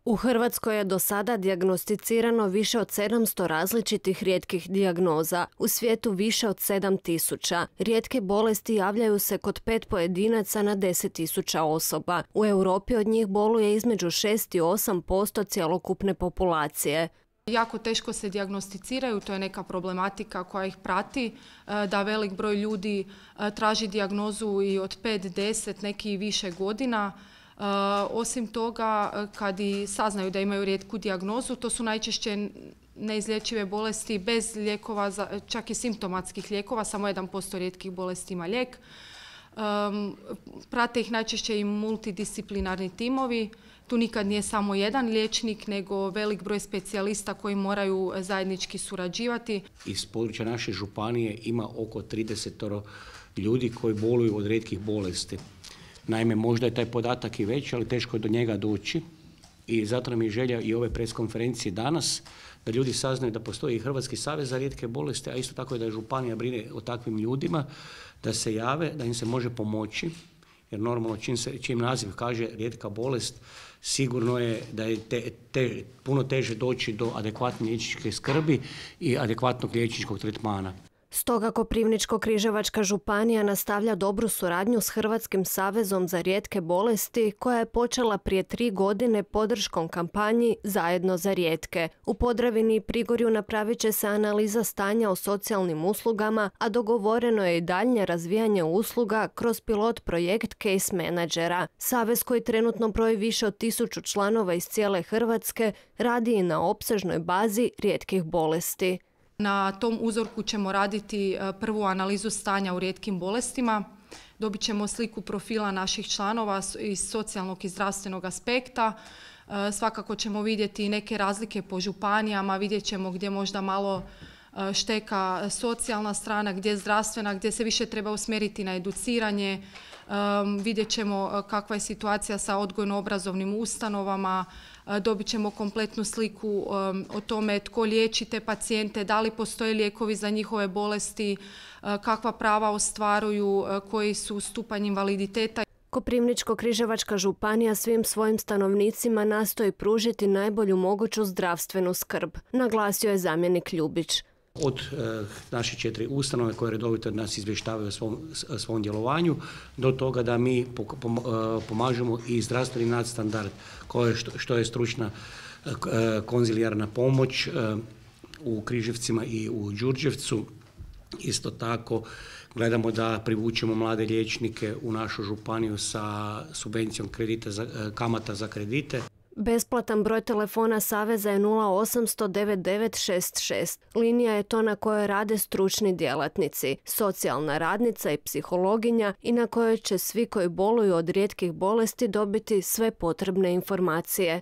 U Hrvatskoj je do sada dijagnosticirano više od 700 različitih rijetkih dijagnoza, u svijetu više od 7.000. Rijetke bolesti javljaju se kod 5 pojedinaca na 10.000 osoba. U Europi od njih boluje između 6 i 8% cjelokupne populacije. Jako teško se dijagnosticiraju, to je neka problematika koja ih prati, da velik broj ljudi traži dijagnozu i od 5, 10, neki i više godina. Osim toga, kad i saznaju da imaju rijetku dijagnozu, to su najčešće neizlječive bolesti bez lijekova, čak i simptomatskih lijekova, samo 1% rijetkih bolesti ima lijek. Prate ih najčešće i multidisciplinarni timovi. Tu nikad nije samo jedan liječnik, nego velik broj specijalista koji moraju zajednički surađivati. Iz područja naše županije ima oko 30 ljudi koji boluju od rijetkih bolesti. Naime, možda je taj podatak i veći, ali teško je do njega doći i zato nam je želja i ove preskonferencije danas da ljudi saznaju da postoji i Hrvatski savez za rijetke bolesti, a isto tako i da županija brine o takvim ljudima, da se jave, da im se može pomoći, jer normalno čim naziv kaže rijetka bolest, sigurno je da je puno teže doći do adekvatne liječničke skrbi i adekvatnog liječničkog tretmana. Stoga Koprivničko-križevačka županija nastavlja dobru suradnju s Hrvatskim savezom za rijetke bolesti koja je počela prije 3 godine podrškom kampanji Zajedno za rijetke. U Podravini i Prigorju napravit će se analiza stanja o socijalnim uslugama, a dogovoreno je i daljnje razvijanje usluga kroz pilot projekt Case Managera. Savez koji trenutno broji više od 1000 članova iz cijele Hrvatske radi i na opsežnoj bazi rijetkih bolesti. Na tom uzorku ćemo raditi prvu analizu stanja u rijetkim bolestima. Dobit ćemo sliku profila naših članova iz socijalnog i zdravstvenog aspekta. Svakako ćemo vidjeti i neke razlike po županijama, vidjet ćemo gdje možda malo šteka socijalna strana, gdje zdravstvena, gdje se više treba usmjeriti na educiranje. Vidjet ćemo kakva je situacija sa odgojno-obrazovnim ustanovama, dobit ćemo kompletnu sliku o tome tko liječi te pacijente, da li postoje lijekovi za njihove bolesti, kakva prava ostvaruju, koji su stupanj invaliditeta. Koprivničko-križevačka županija svim svojim stanovnicima nastoji pružiti najbolju moguću zdravstvenu skrb, naglasio je zamjenik Ljubić. Od naše 4 ustanove koje redovito od nas izvještavaju o svom djelovanju, do toga da mi pomažemo i zdravstveni nadstandard, što je stručna konzilijarna pomoć u Križevcima i u Đurđevcu. Isto tako gledamo da privučemo mlade liječnike u našu županiju sa subvencijom kamata za kredite. Besplatan broj telefona Saveza je 0800 9966. Linija je to na kojoj rade stručni djelatnici, socijalna radnica i psihologinja i na kojoj će svi koji boluju od rijetkih bolesti dobiti sve potrebne informacije.